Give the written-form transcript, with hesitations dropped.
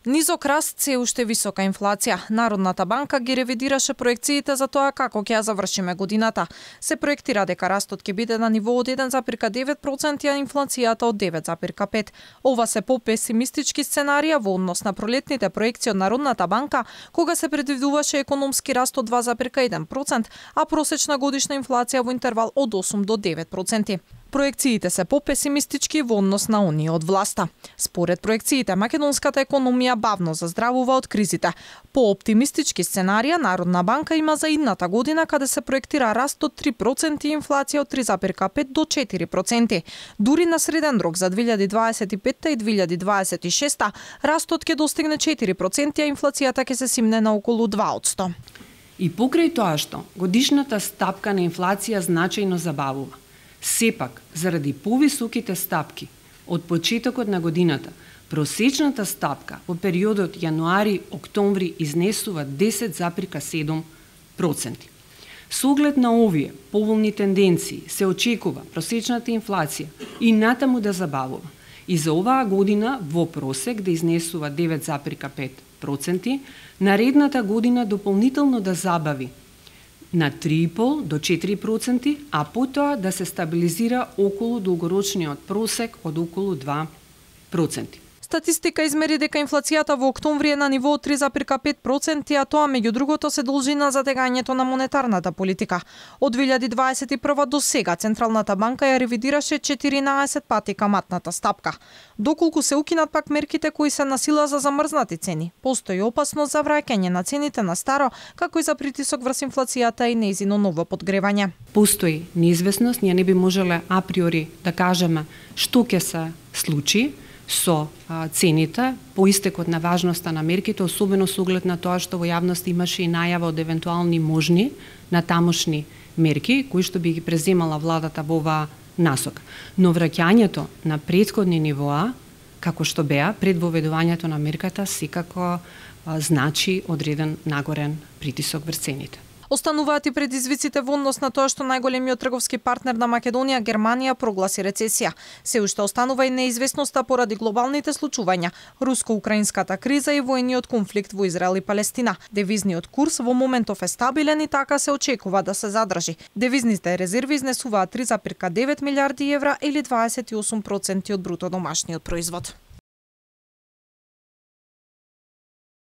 Низок раст, се уште висока инфлација. Народната банка ги ревидираше проекциите за тоа како ќе ја завршиме годината. Се проектира дека растот ќе биде на ниво од 1,9%, а инфлацијата од 9,5%. Ова се попесимистички сценарија во однос на пролетните проекции од Народната банка, кога се предвидуваше економски раст од 2,1%, а просечна годишна инфлација во интервал од 8 до 9%. Проекциите се попесимистички во однос на оние од власта. Според проекциите, македонската економија бавно заздравува од кризите. По оптимистички сценарија, Народна банка има за идната година каде се проектира раст од 3% и инфлација од 3,5 до 4%. Дури на среден рок за 2025 и 2026 растот ќе достигне 4%, а инфлацијата ќе се симне на околу 2%. И покрај тоа што годишната стапка на инфлација значајно забавува, сепак, заради повисоките стапки од почетокот на годината, просечната стапка во периодот јануари-октомври изнесува 10,7%. Со оглед на овие поволни тенденции се очекува просечната инфлација и натаму да забавува. И за оваа година во просек да изнесува 9,5%, наредната година дополнително да забави на 3,5 до 4%, а потоа да се стабилизира околу долгорочниот просек од околу 2%. Статистика измери дека инфлацијата во октомври е на ниво од 3,5%, а тоа меѓу другото се должи на затегањето на монетарната политика. Од 2021 до сега Централната банка ја ревидираше 14 пати каматната стапка. Доколку се укинат пак мерките кои се на сила за замрзнати цени, постои опасност за враќање на цените на старо, како и за притисок врз инфлацијата и нејзино ново подгревање. Постои неизвестност, ние не би можеле априори да кажеме што ќе се случи со цените по истекот на важноста на мерките, особено со оглед на тоа што во јавност имаше и најава од евентуални можни натамошни мерки кои што би ги преземала владата во оваа насока. Но враќањето на претходни нивоа, како што беа пред воведувањето на мерката, секако значи одреден нагорен притисок врз цените. Остануваат и предизвиците во однос на тоа што најголемиот трговски партнер на Македонија, Германија, прогласи рецесија. Се уште останува и неизвестноста поради глобалните случувања, руско-украинската криза и војниот конфликт во Израел и Палестина. Девизниот курс во моментов е стабилен и така се очекува да се задржи. Девизните резерви изнесуваат 3,9 милиарди евра или 28% од бруто домашниот производ.